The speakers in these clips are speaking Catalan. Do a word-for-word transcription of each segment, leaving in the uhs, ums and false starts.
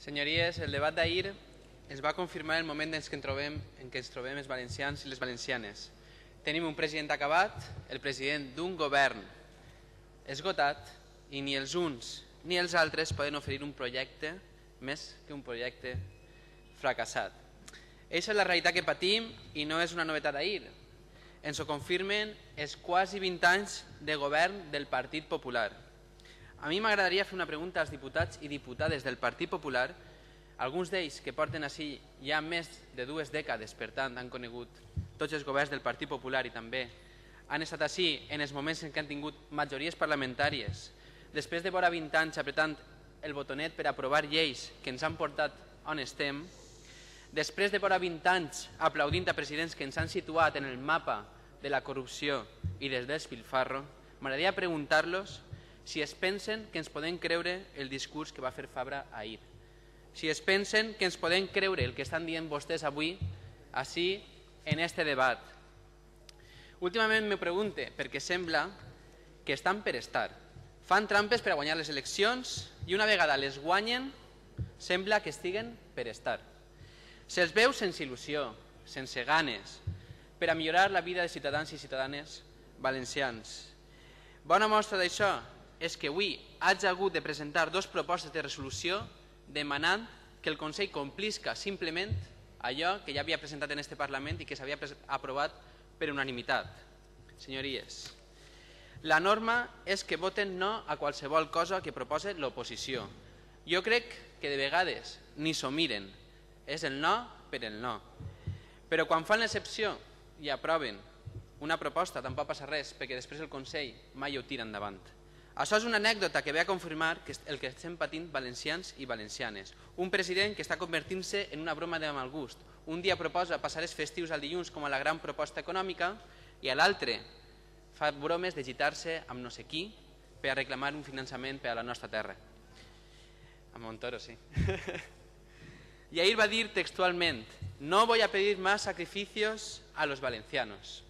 Senyories, el debat d'ahir es va confirmar el moment en què ens trobem, en què ens trobem els valencians i les valencianes. Tenim un president acabat, el president d'un govern esgotat, i ni els uns ni els altres poden oferir un projecte més que un projecte fracassat. Eixa és la realitat que patim i no és una novetat d'ahir. Ens ho confirmen els quasi vint anys de govern del Partit Popular. A mi m'agradaria fer una pregunta als diputats i diputades del Partit Popular, alguns d'ells que porten així ja més de dues dècades, per tant han conegut tots els governs del Partit Popular i també han estat així en els moments en què han tingut majories parlamentàries, després de vora vint anys apretant el botonet per aprovar lleis que ens han portat on estem, després de vora vint anys aplaudint a presidents que ens han situat en el mapa de la corrupció i del despilfarro, m'agradaria preguntar-los si es pensen que ens podem creure el discurs que va fer Fabra ahir. Si es pensen que ens podem creure el que estan dient vostès avui, així, en este debat. Últimament me pregunte, perquè sembla que estan per estar. Fan trampes per a guanyar les eleccions i una vegada les guanyen, sembla que estiguen per estar. Se'ls veu sense il·lusió, sense ganes, per a millorar la vida de ciutadans i ciutadanes valencians. Bona mostra d'això és que avui haig hagut de presentar dues propostes de resolució demanant que el Consell complisca simplement allò que ja havia presentat en este Parlament i que s'havia aprovat per unanimitat. Senyories, la norma és que voten no a qualsevol cosa que proposa l'oposició. Jo crec que de vegades ni s'ho miren, és el no per el no. Però quan fan l'excepció i aproven una proposta tampoc passa res, perquè després el Consell mai ho tira endavant. Això és una anècdota que ve a confirmar el que estem patint valencians i valencianes. Un president que està convertint-se en una broma de mal gust. Un dia proposa passar els festius al dilluns com a la gran proposta econòmica i a l'altre fa bromes de gitar-se amb no sé qui per a reclamar un finançament per a la nostra terra. A Montoro, sí. I ahir va dir textualment: no voy a pedir más sacrificios a los valencianos.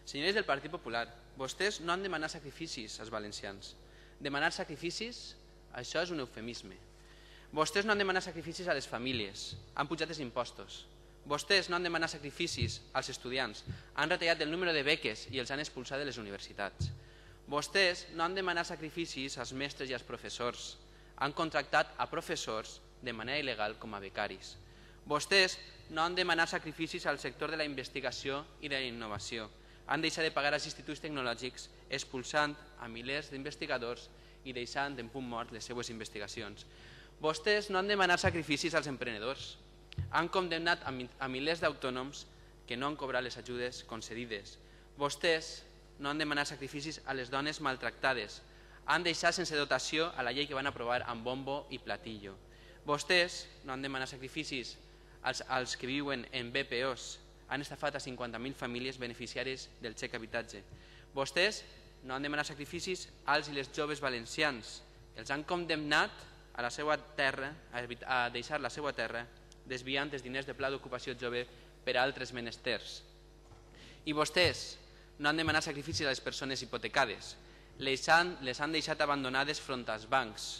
Senyors del Partit Popular, vostès no han demanat sacrificis als valencians. Demanar sacrificis, això és un eufemisme. Vostès no han demanat sacrificis a les famílies, han pujat els impostos. Vostès no han demanat sacrificis als estudiants, han retallat el número de beques i els han expulsat de les universitats. Vostès no han demanat sacrificis als mestres i als professors, han contractat a professors de manera il·legal com a becaris. Vostès no han demanat sacrificis al sector de la investigació i de la innovació, han deixat de pagar als instituts tecnològics expulsant a milers d'investigadors i deixant en punt mort les seues investigacions. Vostès no han demanat sacrificis als emprenedors, han condemnat a milers d'autònoms que no han cobrat les ajudes concedides. Vostès no han demanat sacrificis a les dones maltractades, han deixat sense dotació a la llei que van aprovar amb bombo i platillo. Vostès no han demanat sacrificis als, als que viuen en B P Os, han estafat a cinquanta mil famílies beneficiàries del xec habitatge. Vostès no han demanat sacrificis als i les joves valencians. Els han condemnat a, la seva terra, a deixar la seva terra desviant els diners de pla d'ocupació jove per a altres menesters. I vostès no han demanat sacrificis a les persones hipotecades. Les han, les han deixat abandonades front als bancs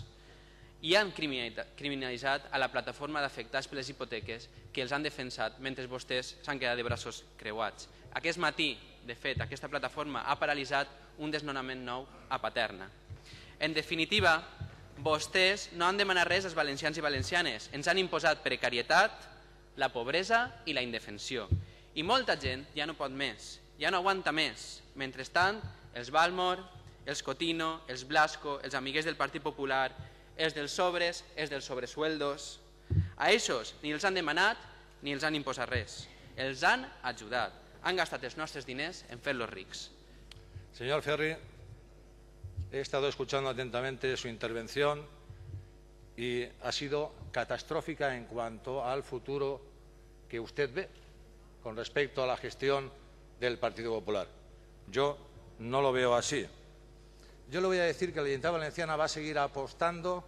i han criminalitzat a la plataforma d'afectats per les hipoteques que els han defensat mentre vostès s'han quedat de braços creuats. Aquest matí, de fet, aquesta plataforma ha paralitzat un desnonament nou a Paterna. En definitiva, vostès no han demanat res als valencians i valencianes, ens han imposat precarietat, la pobresa i la indefensió. I molta gent ja no pot més, ja no aguanta més. Mentrestant, els Balmor, els Cotino, els Blasco, els amiguers del Partit Popular, els dels sobres, els dels sobresueldos. A ells ni els han demanat ni els han imposat res. Els han ajudat. Han gastat els nostres diners en fer-los rics. Señor Ferri, he estado escuchando atentamente su intervención y ha sido catastrófica en cuanto al futuro que usted ve con respecto a la gestión del Partido Popular. Yo no lo veo así. Yo le voy a decir que la Generalitat Valenciana va a seguir apostando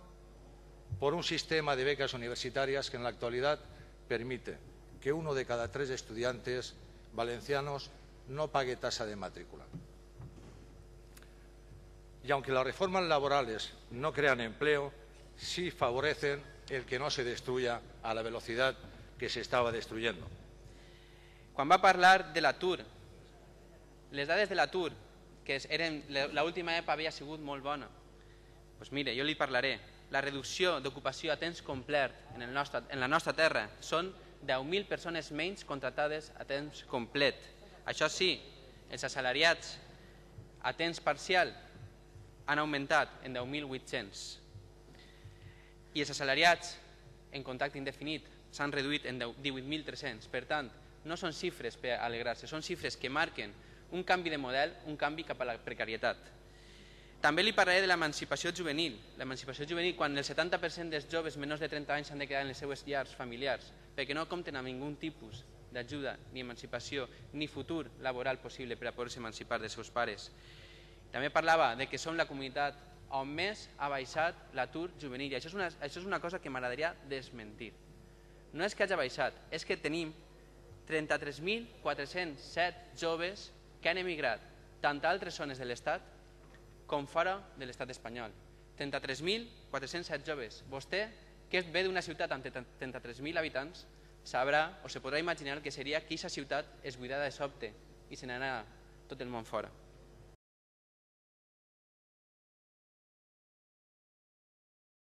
por un sistema de becas universitarias que en la actualidad permite que uno de cada tres estudiantes valencianos no pague tasa de matrícula. Y aunque las reformas laborales no crean empleo, sí favorecen el que no se destruya a la velocidad que se estaba destruyendo. Quan va parlar de l'atur, les dades de l'atur, que eren, l'última E P A havia sigut molt bona, doncs mire, jo li parlaré. La reducció d'ocupació a temps complet en, el nostre, en la nostra terra són deu mil persones menys contractades a temps complet. Això sí, els assalariats a temps parcial han augmentat en deu mil vuit-cents i els assalariats en contracte indefinit s'han reduït en divuit mil tres-cents. Per tant, no són xifres per alegrar-se, són xifres que marquen un canvi de model, un canvi cap a la precarietat. També li parlaré de l'emancipació juvenil. L'emancipació juvenil, quan el setanta per cent dels joves menors de trenta anys s'han de quedar en les seues llars familiars perquè no compten amb ningun tipus d'ajuda, ni emancipació, ni futur laboral possible per a poder-se emancipar dels seus pares. També parlava de que som la comunitat on més ha baixat l'atur juvenil. I això és una, això és una cosa que m'agradaria desmentir. No és que hagi baixat, és que tenim trenta-tres mil quatre-cents set joves que han emigrat tant a altres zones de l'Estat com fora de l'Estat espanyol. trenta-tres mil quatre-cents set joves. Vostè, que ve d'una ciutat amb trenta-tres mil habitants, sabrà o se podrà imaginar que seria que aquesta ciutat es buidara de sobte i se n'anà tot el món fora.